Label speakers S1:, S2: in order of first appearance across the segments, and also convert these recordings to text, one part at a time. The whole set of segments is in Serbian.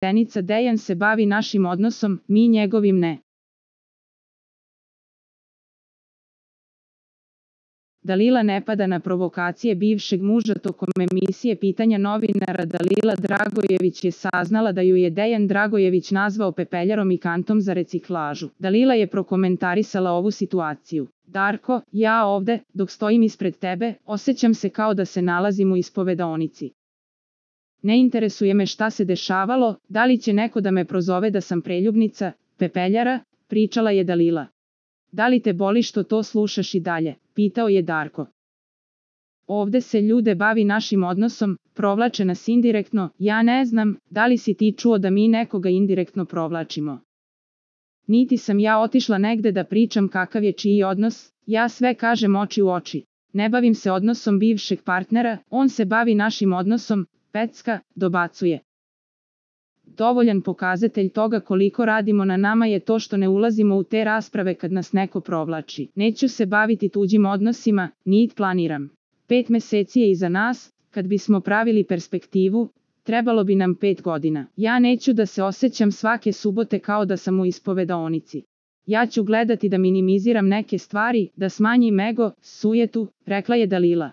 S1: rečenica Dejan se bavi našim odnosom, mi njegovim ne. Dalila ne pada na provokacije bivšeg muža. Tokom emisije Pitanja novinara Dalila Dragojević je saznala da ju je Dejan Dragojević nazvao pepeljarom i kantom za reciklažu. Dalila je prokomentarisala ovu situaciju. Darko, ja ovde, dok stojim ispred tebe, osjećam se kao da se nalazim u ispovedaonici. Ne interesuje me šta se dešavalo, da li će neko da me prozove da sam preljubnica, pepeljara, pričala je Dalila. Da li te boli što to slušaš i dalje, pitao je Darko. Ovde se ljude bavi našim odnosom, provlače nas indirektno, ja ne znam, da li si ti čuo da mi nekoga indirektno provlačimo. Niti sam ja otišla negde da pričam kakav je čiji odnos, ja sve kažem oči u oči. Ne bavim se odnosom bivšeg partnera, on se bavi našim odnosom, pecka, dobacuje. Dovoljan pokazatelj toga koliko radimo na nama je to što ne ulazimo u te rasprave kad nas neko provlači. Neću se baviti tuđim odnosima, niti planiram. 5 meseci je iza nas, kad bismo pravili perspektivu, trebalo bi nam 5 godina. Ja neću da se osjećam svake subote kao da sam u ispovedaonici. Ja ću gledati da minimiziram neke stvari, da smanjim ego, sujetu, rekla je Dalila.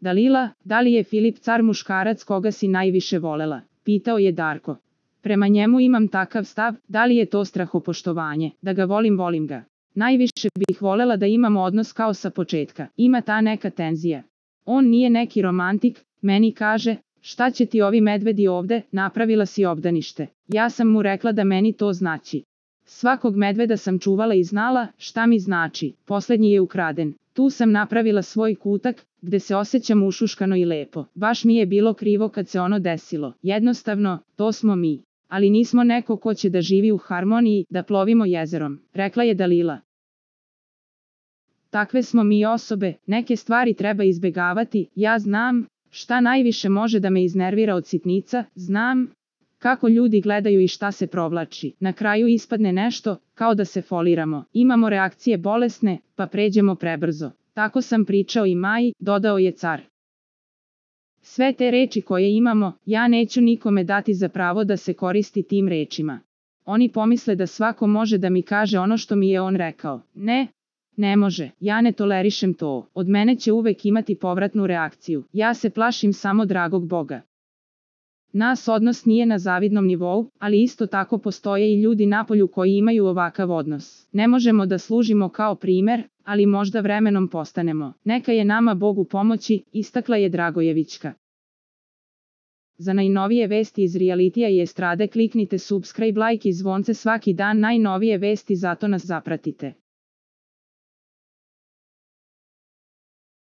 S1: Dalila, da li je Filip car muškarac koga si najviše volela? Pitao je Darko. Prema njemu imam takav stav, da li je to strahopoštovanje, da ga volim, volim ga. Najviše bih volela da imamo odnos kao sa početka, ima ta neka tenzija. On nije neki romantik, meni kaže, šta će ti ovi medvedi ovde, napravila si obdanište. Ja sam mu rekla da meni to znači. Svakog medveda sam čuvala i znala šta mi znači, poslednji je ukraden. Tu sam napravila svoj kutak, gde se osjećam ušuškano i lepo. Baš mi je bilo krivo kad se ono desilo. Jednostavno, to smo mi. Ali nismo neko ko će da živi u harmoniji, da plovimo jezerom, rekla je Dalila. Takve smo mi osobe, neke stvari treba izbegavati, ja znam šta najviše može da me iznervira od sitnica, znam kako ljudi gledaju i šta se provlači. Na kraju ispadne nešto, kao da se foliramo. Imamo reakcije bolesne, pa pređemo prebrzo. Tako sam pričao i Maji, dodao je car. Sve te reči koje imamo, ja neću nikome dati za pravo da se koristi tim rečima. Oni pomisle da svako može da mi kaže ono što mi je on rekao. Ne, ne može, ja ne tolerišem to. Od mene će uvek imati povratnu reakciju. Ja se plašim samo dragog Boga. Nas odnos nije na zavidnom nivou, ali isto tako postoje i ljudi napolju koji imaju ovakav odnos. Ne možemo da služimo kao primer, ali možda vremenom postanemo. Neka je nama Bog u pomoći, istakla je Dragojevićka. Za najnovije vesti iz realitija i estrade kliknite subscribe, like i zvonce svaki dan, najnovije vesti, zato nas zapratite.